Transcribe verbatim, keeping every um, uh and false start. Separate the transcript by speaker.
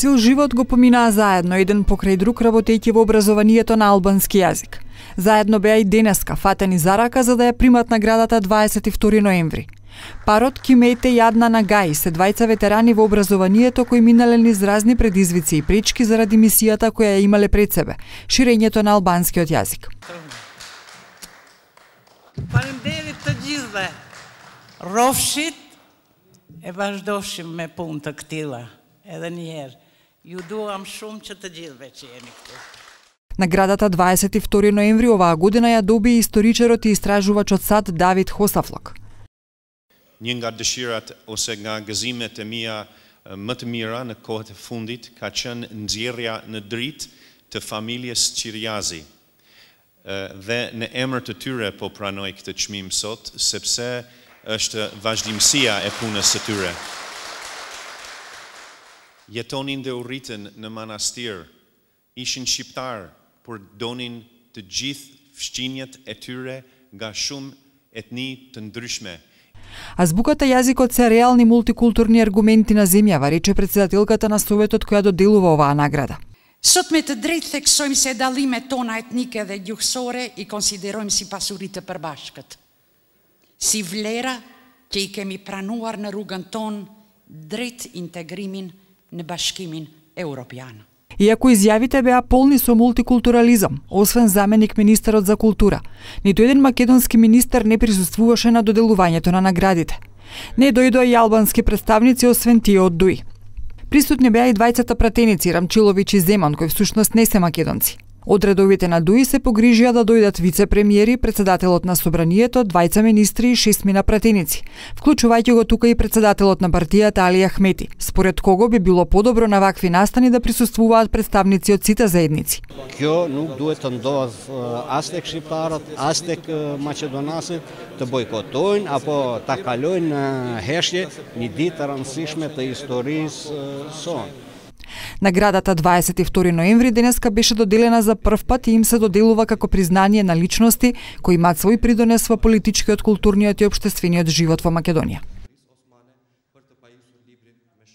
Speaker 1: Цел живот го поминаа заедно, еден покрај друг, работејќи во образованието на албански јазик. Заедно беа и денеска фатени за рака за да ја примат наградата дваесет и втори ноември. Парот Кимете и Аднан Агаи се двајца ветерани во образованието кои минале низ разни предизвици и пречки заради мисијата која ја имале пред себе – ширењето на албанскиот јазик.
Speaker 2: Faleminderit të gjithëve. Rrofshit e vazhdofshim me punë të këtilla. Edhe një herë. Ju duam shumë që të gjithëve që jeni këtu.
Speaker 1: Наградата дваесет и втори ноември оваа година ја доби историчарот и истражувачот САД Давид Хосафлок.
Speaker 3: Një nga dëshirat ose nga gëzimet e mia më të mira në kohët e fundit ka qenë nxjerrja në dritë të familjes Qiriazi. Dhe në emër të tyre po pranoj këtë çmim sot, sepse është vazhdimësia e punës së tyre. Jetonin dhe u rritën në manastir, ishin shqiptar, por donin të gjithë fshqinjet e tyre nga shumë etni të ndryshme.
Speaker 1: Азбуката јазикот се реални мултикултурни аргументи на земјава, рече председателката на Советот која доделува оваа награда.
Speaker 4: Sot me të drejtë theksojmë se dallimet tona etnike dhe gjuhësore i konsiderojmë si pasuri të përbashkët, si vlera që i kemi pranuar në rrugën tonë drejt integrimin në bashkimin evropian.
Speaker 1: Иако изјавите беа полни со мултикултурализам, освен заменик министерот за култура, ниту еден македонски министер не присуствуваше на доделувањето на наградите. Не дојдоа и албански представници освен тие од ДУИ. Присутни беа и двајцата пратеници Рамчилович и Земан, кои всушност не се македонци. Од редовите на ДУИ се погрижија да дојдат вице-премиери, председателот на Собранието, двајца министри и шестмина пратеници, вклучувајќи го тука и председателот на партијата Али Ахмети, според кого би било подобро на вакви настани да присуствуваат представници од сите заедници.
Speaker 5: Kjo nuk duhet të ndodh as tek shqiptarët, as tek maqedonasët të bojkotojnë apo ta kalojnë në heshje një ditë të rëndësishme të historisë sonë.
Speaker 1: Наградата дваесет и втори ноември денеска беше доделена за прв пат и им се доделува како признание на личности кои имаат свој придонес во политичкиот, културниот и општествениот живот во Македонија.